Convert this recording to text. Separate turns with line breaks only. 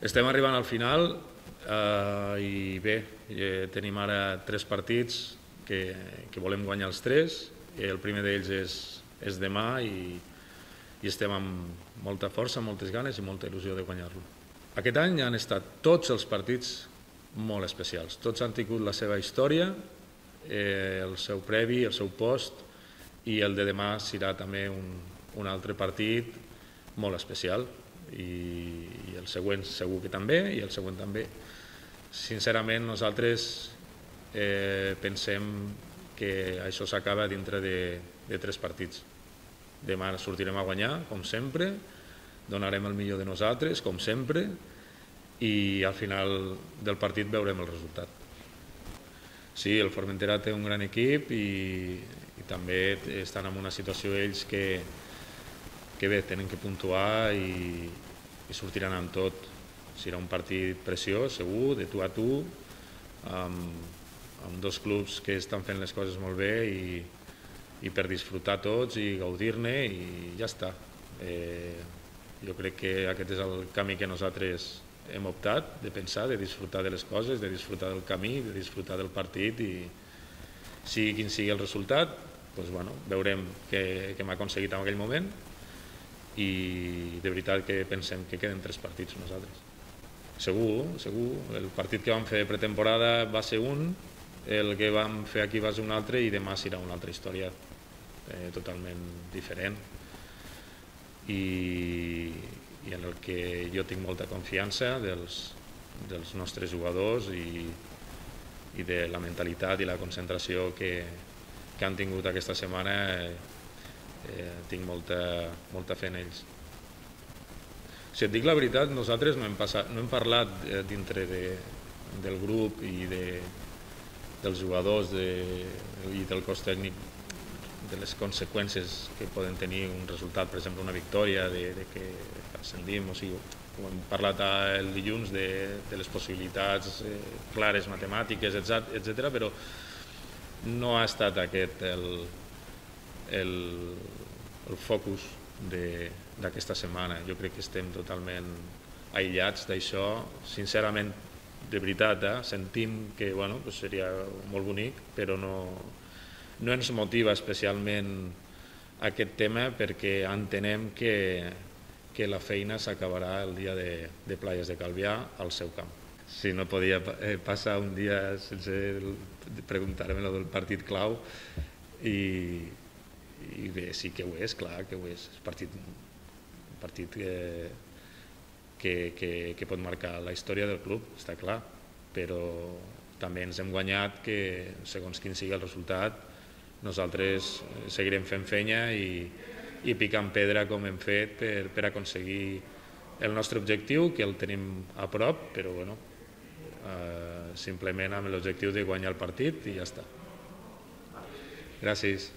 Estem arribant al final i bé, tenim ara 3 partits que volem guanyar els 3. El primer d'ells és demà i estem amb molta força, moltes ganes i molta il·lusió de guanyar-lo. Aquest any han estat tots els partits molt especials. Tots han tingut la seva història, el seu previ, el seu post, i el de demà serà també un altre partit molt especial. I el següent segur que també, i el següent també. Sincerament, nosaltres pensem que això s'acaba dintre de 3 partits. Demà sortirem a guanyar, com sempre, donarem el millor de nosaltres, com sempre, i al final del partit veurem el resultat. Sí, el Formentera té un gran equip i també estan en una situació ells que bé, tenen que puntuar i sortiran amb tot. Serà un partit preciós, segur, de tu a tu, amb 2 clubs que estan fent les coses molt bé i per disfrutar tots i gaudir-ne i ja està. Jo crec que aquest és el camí que nosaltres hem optat, de pensar, de disfrutar de les coses, de disfrutar del camí, de disfrutar del partit, i sigui quin sigui el resultat, veurem què hem aconseguit en aquell moment, i de veritat que pensem que queden 3 partits nosaltres. Segur, el partit que vam fer de pretemporada va ser un, el que vam fer aquí va ser un altre, i demà serà una altra història totalment diferent i en el que jo tinc molta confiança dels nostres jugadors i de la mentalitat i la concentració que han tingut aquesta setmana. Tinc molta fe en ells. Si et dic la veritat, nosaltres no hem parlat dintre del grup i dels jugadors i del cos tècnic de les conseqüències que poden tenir un resultat, per exemple una victòria, de que ascendim, o sigui, hem parlat el dilluns de les possibilitats clares matemàtiques, etc., però no ha estat aquest el focus d'aquesta setmana. Jo crec que estem totalment aïllats d'això. Sincerament, de veritat, sentim que seria molt bonic, però no ens motiva especialment aquest tema, perquè entenem que la feina s'acabarà el dia de Playas de Calvià al seu camp. Si no podia passar un dia sense preguntar-me del partit clau, i bé, sí que ho és, clar que ho és. És un partit que pot marcar la història del club, està clar, però també ens hem guanyat que, segons quin sigui el resultat, nosaltres seguirem fent feina i picant pedra com hem fet per aconseguir el nostre objectiu, que el tenim a prop, però simplement amb l'objectiu de guanyar el partit i ja està. Gràcies.